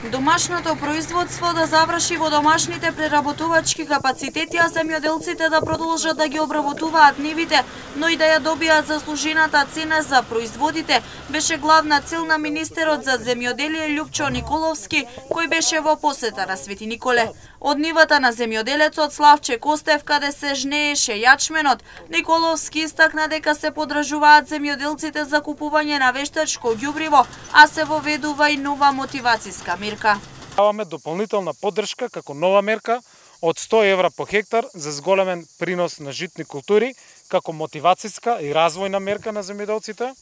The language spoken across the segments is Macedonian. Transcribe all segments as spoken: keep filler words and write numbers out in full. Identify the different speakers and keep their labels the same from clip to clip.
Speaker 1: Домашното производство да заврши во домашните преработувачки капацитети, а земјоделците да продолжат да ги обработуваат нивите, но и да ја добијат заслужената цена за производите, беше главна цел на министерот за земјоделие Љупчо Николовски, кој беше во посета на Свети Николе. Од нивата на земјоделецот Славче Костев, каде се жнееше јачменот, Николовски истакна дека се подражуваат земјоделците за купување на вештачко ѓубриво, а се воведува и нова мотивацијска мерка.
Speaker 2: Даваме дополнителна поддршка како нова мерка од сто евра по хектар за зголемен принос на житни култури, како мотивацијска и развојна мерка на земјоделците,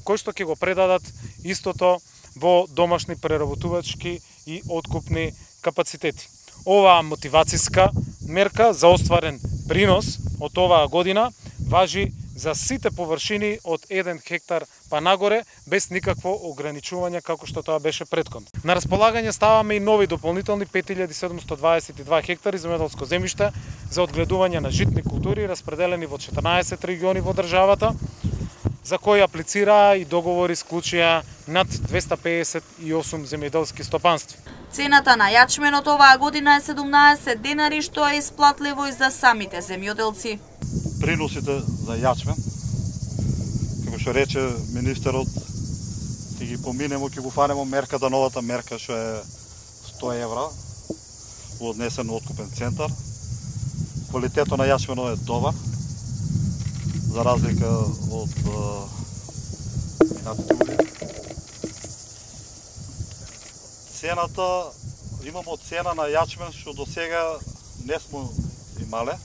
Speaker 2: кои што ќе го предадат истото во домашни преработувачки и откупни капацитети. Оваа мотивацијска мерка за остварен принос од оваа година важи за сите површини од еден хектар па нагоре, без никакво ограничување како што тоа беше претходно. На располагање ставаме и нови дополнителни пет илјади седумстотини дваесет и два хектари земјоделско земјиште за одгледување на житни култури, распределени во четрнаесет региони во државата, за кои аплицираа и договори склучија над двесте педесет и осум земјоделски стопанства.
Speaker 1: Цената на јачменот оваа година е седумнаесет денари, што е исплатливо и за самите земјоделци.
Speaker 3: Приносите за јачмен, како што рече министерот, ќе ги поминемо, ќе го фанемо мерката, новата мерка што е сто евра во однесен откупен центар. Квалитетот на јачменот е добар, за разлика од минатите години. Цената, имамо цена на јачмен што до сега не сме имале.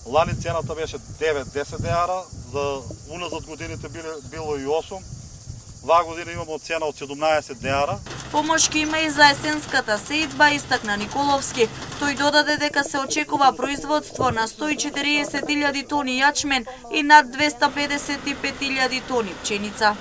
Speaker 3: Лани цената беше девет-десет деара, за уназад годините било и осум. Ваа година имамо цена од седумнаесет деара.
Speaker 1: Помошки има и за есенската сеидба, истакна Николовски. Тој додаде дека се очекува производство на сто и четириесет илјади тони јачмен и над двесте педесет и пет илјади тони пченица.